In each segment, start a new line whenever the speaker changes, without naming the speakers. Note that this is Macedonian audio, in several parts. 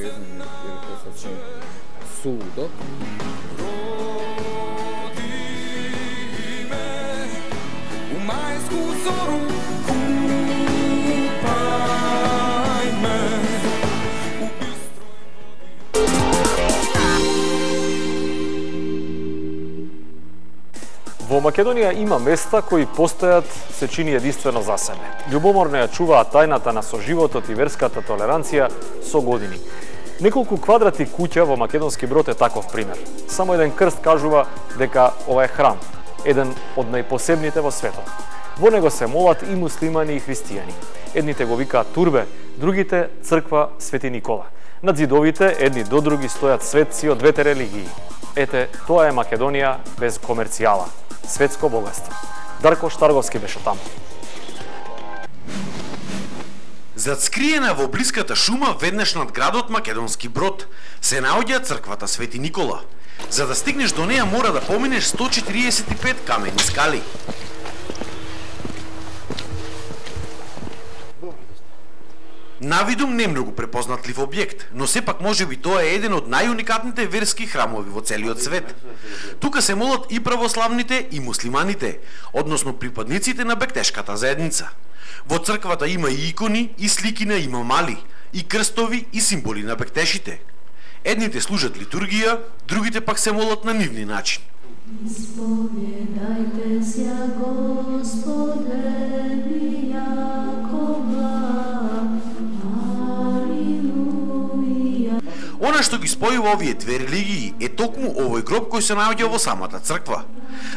безумно, jer je to sasvim suludo.
Majsku zoru kupaj me u bistroj
Во Македонија има места кои постојат се чини единствено за себе. Љубоморно ја чуваат тајната на соживотот и верската толеранција со години. Неколку квадрати куќа во Македонски Брод е таков пример. Само еден крст кажува дека ова е храм, еден од најпосебните во светот. Во него се молат и муслимани и христијани. Едните го викаат турбе, другите црква Свети Никола. Над зидовите едни до други стојат светци од двете религии. Ете, тоа е Македонија без комерцијала. Светско богатство. Дарко Штарговски беше таму.
Зацкриена во блиската шума веднаш над градот Македонски Брод се наоѓа црквата Свети Никола. За да стигнеш до неја мора да поминеш 145 камени скали. Навидум не многу препознатлив објект, но сепак можеби тоа е еден од најуникатните верски храмови во целиот свет. Тука се молат и православните и муслиманите, односно припадниците на бектешката заедница. Во црквата има и икони и слики на имамали, и крстови и символи на бектешите. Едните служат литургија, другите пак се молат на нивни начин.
Исповедајте се, Господе, ми Јакова. Алилуја.
Она што ги спојува овие две религии е токму овој гроб кој се наоѓа во самата црква.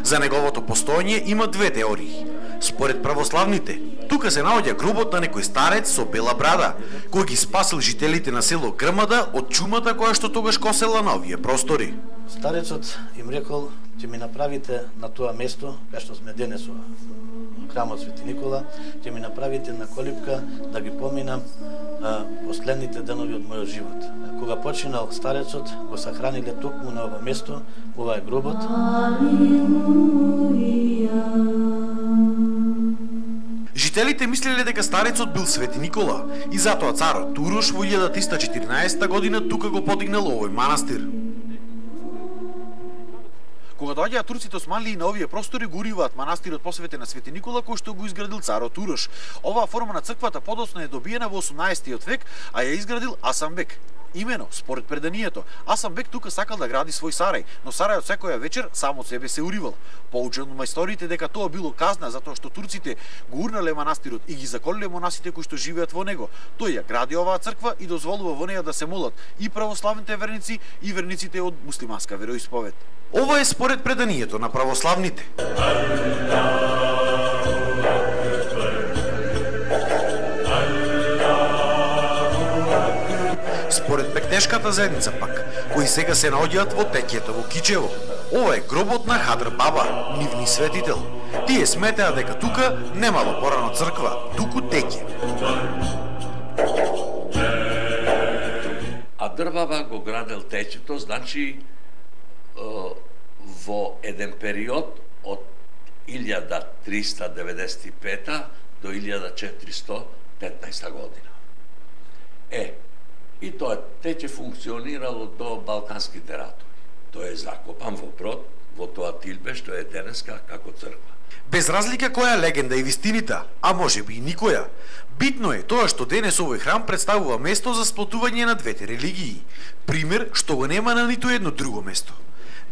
За неговото постоење има две теории. Според православните, тука се наоѓа гробот на некој старец со бела брада, кој ги спасил жителите на село Грмада од чумата која што тогаш косела на овие простори.
Старецот им рекол, ќе ми направите на тоа место, кај што сме денес во храмот Свети Никола, ќе ми направите на колипка да ги поминам последните денови од мојот живот. Кога починал старецот, го сахраниле токму на ова место, ова е гробот.
Жителите мислеле дека старецот бил Свети Никола и затоа царот Турош во 1314 година тука го подигнал овој манастир. Кога доаѓаат турците османлии на овие простори, го уриваат манастирот посветен на Свети Никола кој што го изградил царот Урош. Оваа форма на црквата подоцна е добиена во 18 век, а ја изградил Асамбек. Имено, според преданието, Асамбек тука сакал да гради свој сарај, но сарајот секоја вечер сам од себе се уривал. Поучен од мајсториите дека тоа било казна затоа што турците го урнале манастирот и ги заколиле монасите кои што живеат во него. Тој ја гради оваа црква и дозволува во неја да се молат и православните верници и верниците од муслиманска вероисповед. Ова е според преданието на православните. Според бектешката заедница пак, кои сега се наоѓаат во Текјето во Кичево. Ова е гробот на Хадр Баба, нивни светител. Тие сметеа дека тука немало порано црква, туку Текје.
Хадр Баба го градел Текјето, значи во еден период од 1395 до 1415 година. И тоа Текје функционирало до Балканските ратови. Тој е закопан во Брод, во тоа тилбе што е денеска како црква.
Без разлика која легенда и вистинита, а можеби и никоја, битно е тоа што денес овој храм представува место за сплотување на двете религии. Пример што го нема на ниту едно друго место.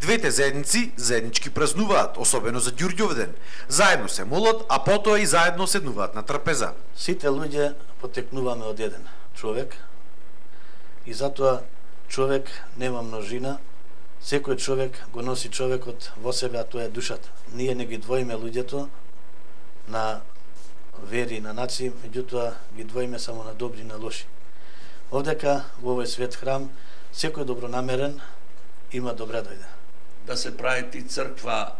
Двете заедници заеднички празнуваат, особено за Ѓурѓовден. Заедно се молат, а потоа и заедно седнуваат на трпеза.
Сите луѓе потекнуваме од еден човек и затоа човек нема множина. Секој човек го носи човекот во себе, а тоа е душата. Ние не ги двоиме луѓето на вери и на нации, меѓутоа ги двоиме само на добри и на лоши. Овдека во овој свет храм секој добронамерен има добре дојде.
Да се прави ти црква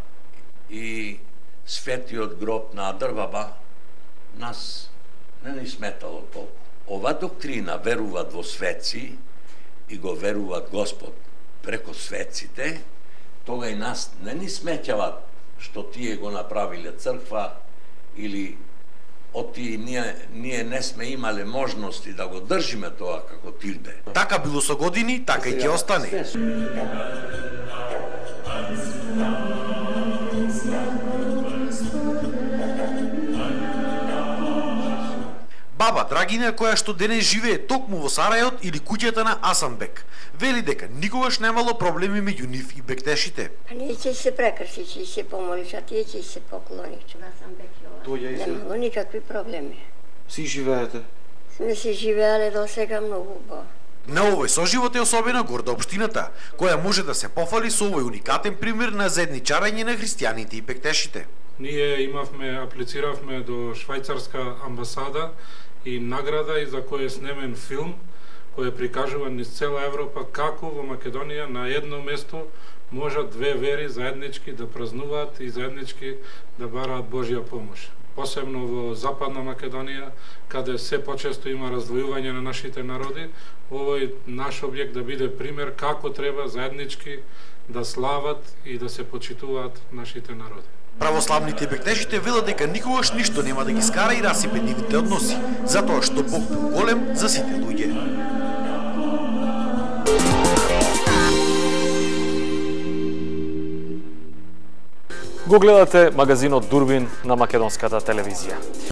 и светиот гроб на Хадр Баба, нас не ни сметало толку. Ова доктрина веруваат во светци и го веруваат Господ преко светците, тога и нас не ни сметјават што тие го направиле црква или оти ние не сме имале можности да го држиме тоа како тилбе.
Така било со години, така и ќе остане. Баба Драгина, која што денес живее токму во Сарајот или куќата на Асанбек, вели дека никогаш немало проблеми меѓу нив и бектешите.
А ние ќе се прекрси, ќе се помолиш, а тие ќе се поклониш. Немало никакви проблеми.
Си живеете?
Сме се живеале до сега многу убаво.
На овој соживот е особена горда општината, која може да се пофали со овој уникатен пример на заедничарење на христијаните и бектешите.
Ние аплициравме до швајцарска амбасада и награда и за кој е снемен филм кој е прикажуван низ цела Европа како во Македонија на едно место можат две вери заеднички да празнуваат и заеднички да бараат Божја помош. Посебно во Западна Македонија, каде се почесто има раздвојување на нашите народи, овој наш објект да биде пример како треба заеднички да слават и да се почитуваат нашите народи.
Православните бектешите велат дека никогаш ништо нема да ги скара и расипе нивните односи, затоа што Бог бил голем за сите луѓе.
Го гледате магазинот Дурбин на македонската телевизија.